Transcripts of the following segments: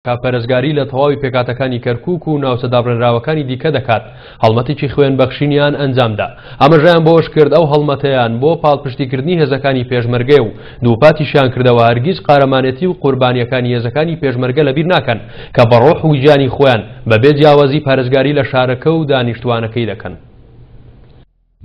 کە پەرستگاری لە تەواوی پێکهاتەکانی کەرکوک و ناوچە دابڕێنراوەکانی دیکە دەکات، هەڵمەتێکی خوێنبەخشینیان ئەنجامدا. ئاماژەیان بەوەشکرد، ئەو هەڵمەتەیان بۆ پاڵپشتیکردنی هێزەکانی پێشمەرگەیە و دووپاتیشیان کردەوە هەرگیز قارەمانێتی و قوربانییەکانی هێزەکانی پێشمەرگە لەبیر ناکەن کە بە ڕۆح و گیانی خۆیان بەبێ جیاوازی پارێزگاری لە شارەکە و دانیشتووانەکەی دەکەن.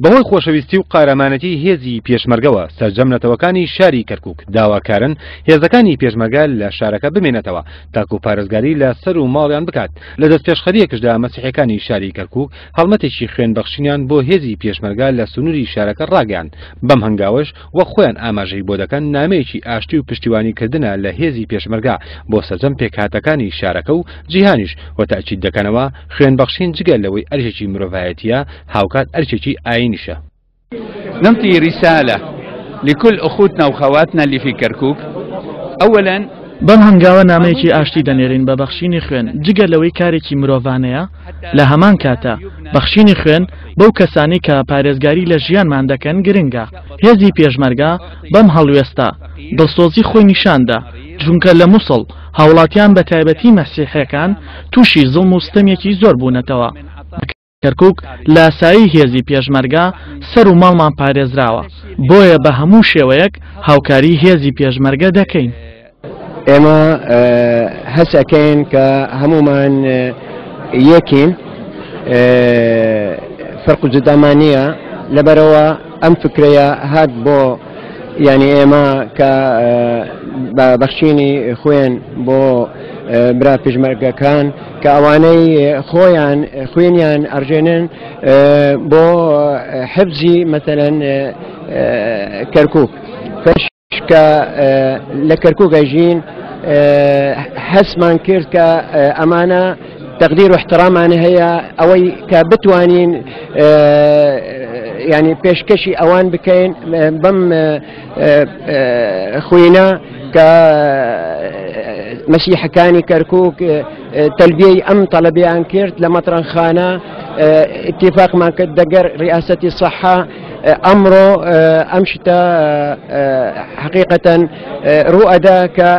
بەهۆی خۆشەویستی و قارەمانێتی هێزی پێشمەرگەوە سەرجەم نەتەوەکانی شاری کەرکوک داواکارن هێزەکانی پێشمەرگە لە شارەکە بمێنێتەوە تاکو پارێزگاری لە سەر و ماڵیان بکات. لە دەستپێشخەرییەکشدا مەسیحیەکانی شاری کەرکوک هەڵمەتێکی خوێن بەخشینیان بۆ هێزی پێشمەرگە لە سنوری شارەکە ڕاگەیاند، بەم هەنگاوەش وەک خۆیان ئاماژەی بۆ دەکەن نامەیەکی ئاشتی و پشتیوانی کردنە لە هێزی پێشمەرگە بۆ سەرجەم پێکهاتەکانی شارەکە و جیهانیش و تەئکید دەکەنەوە خوێن بەخشین جگە لەوەی ئەرکێکی مرۆڤایەتیە هاوکات ئەرکێکی ئایینیشە. نعطي رسالة لكل اخوتنا وخواتنا اللي في كركوك اولا. بەم هەنگاوە نامەیەکی ئاشتی دەنێرین بە بەخشینی خوێن، جگە لەوەی کارێکی مرۆڤانەیە، لە هەمان کاتا بەخشینی خوێن بەو کەسانەی کە پارێزگاری لە ژیانمان دەکەن گرنگە، هێزی پێشمەرگە بەم هەڵوێستە دڵسۆزی خۆی نیشاندا، چونکە لە موسڵ هاوڵاتیان بە تایبەتی مەسیحیەکان تووشی زوڵم و ستەمێکی زۆر بوونەتەوە. کەرکوک لە سایەی هێزی پێشمەرگە سەر و ماڵمان پارێزراوە، بۆیە بە هەموو شێوەیەک هاوکاری هێزی پێشمەرگە دەکەین. ئێمە هەست ئەکەین کە هەموومان یەکین، فەرق و جودامان نییە، لەبەرئەوە ئەم فکرەیە هات بۆ یعنی ئێمە کە بە بەخشینی خوێن بۆ برا پێشمەرگەکان کە ئەوانەی خۆیان خوێنیان ئەڕژێنن بۆ حفزی مەسەلەن کەرکوک فش کە لە کەرکوک ئەژین هەستمان کرد کە ئەمانە تقدیر و احترامان هەیە ئەوەی کە بتوانین ینی پێشکەشی ئەوان بکەین بەم خوێنە کە مەسیحەکانی کەرکک تەلبیەی ئەم تەلەبیان کرد لە مەترەنخانە اتفاقمان کرد دەگەر ریاسەتی سەحە ئەمڕۆ ئەم شتە حقیقەتەن ڕوئەدا کە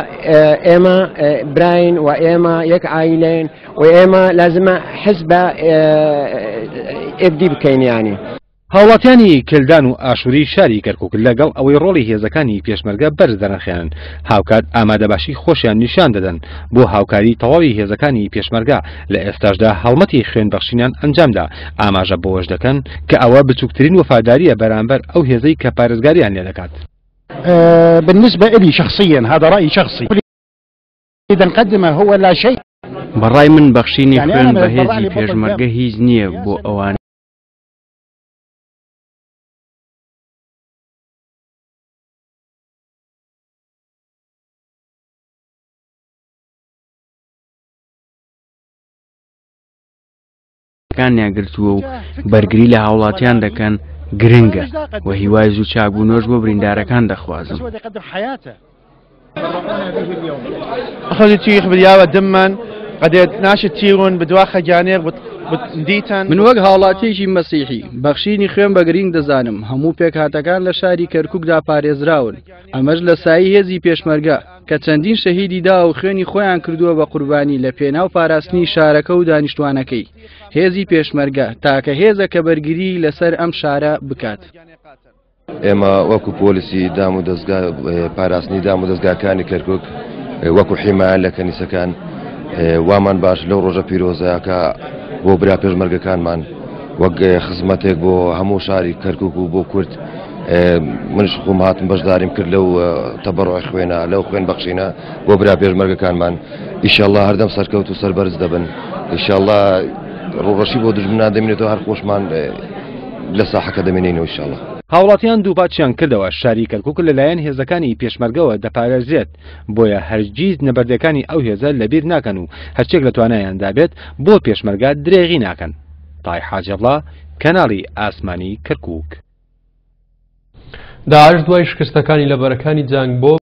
ئێمە براین و ئێمە یەک عیلین و ئێمە لازمە حز بە ئێبدی بکەین ینی. هاوڵاتیانی کلدان و ئاشوری شاری کەرکوک لەگەڵ ئەوەی ڕۆڵی هێزەکانی پێشمەرگە بەرز دەنرخێنن، هاوکات ئامادەباشی خۆشیان نیشان دەدەن بۆ هاوکاری تەواوی هێزەکانی پێشمەرگە، لە ئێستاشدا هەڵمەتی خوێنبەخشینیان ئەنجامدا، ئاماژە بەوەش دەکەن کە ئەوە بچوکترین وەفادارییە بەرامبەر ئەو هێزەی کە پارێزگاریان لێدەکات. بالنسبة لي شخصيا هذا رأيي شخصي نقدمه هو لا شيء. بەڕای من بەخشینی خوێن بە هێزی پێشمەرگە هیچ نییە بۆ ئەوانەی کانیان گرتووە و بەرگری لە هاوڵاتیان دەکەن گرنگە و هیوای زوو چاکبوونەوەش بۆ بریندارەکان دەخوازم. من وەک هاوڵاتیەکی مەسیحی، بەخشینی خوێن بە گرینگ دەزانم، هەموو پێکهاتەکان لە شاری کەرکوکدا پارێزراون، ئەمەش لە سایەی هێزی پێشمەرگە کە چەندین شەهیدی داوە و خوێنی خۆیان کردووە بە قوربانی لە پێناو پاراستنی شارەکە و دانیشتوانەکەی. هێزی پێشمەرگە تاکە هێزە کە بەرگریی لەسەر ئەم شارە بکات. ئێمە وەکو پۆلیسی دام و دەزگا پاراستنی دام و دەزگاکانی کەرکک وەکو حیمایە لە کەنیسەکان وامان باش لەو ڕۆژە پیرۆزە کە بۆ برا پێشمەرگەکانمان وەک خزمەتێک بۆ هەموو شاری کەرکک و بۆ کورد منش خۆم هاتم بەشداریم کرد لەو تەبەڕۆی خوێنە لەو خوێن بەخشینە بۆ برا پێشمەرگەکانمان ئیشەڵا هەردەم سەرکەوت و سەربەرز دەبن ئیشەڵا ڕوڕەشی بۆ دژمنان دەمێنێتەوە هەر خۆشمان لە ساحەکە دەمێنینەوە ئیشەڵا. هاوڵاتیان دووپاتیان کردەوە، شاری کەرکوک لەلایەن هێزەکانی پێشمەرگەوە دەپارێزرێت، بۆیە هەرگیز نەبەردەکانی ئەو هێزە لەبیر ناکەن و هەرچیەک لە توانایاندا بێت بۆ پێشمەرگە درێغی ناکەن. تای حاجی عەبدوڵا، کەناڵی ئاسمانی کەرکوک. داعش دوای شکستەکانی لە بەرەکانی جەنگ بۆ.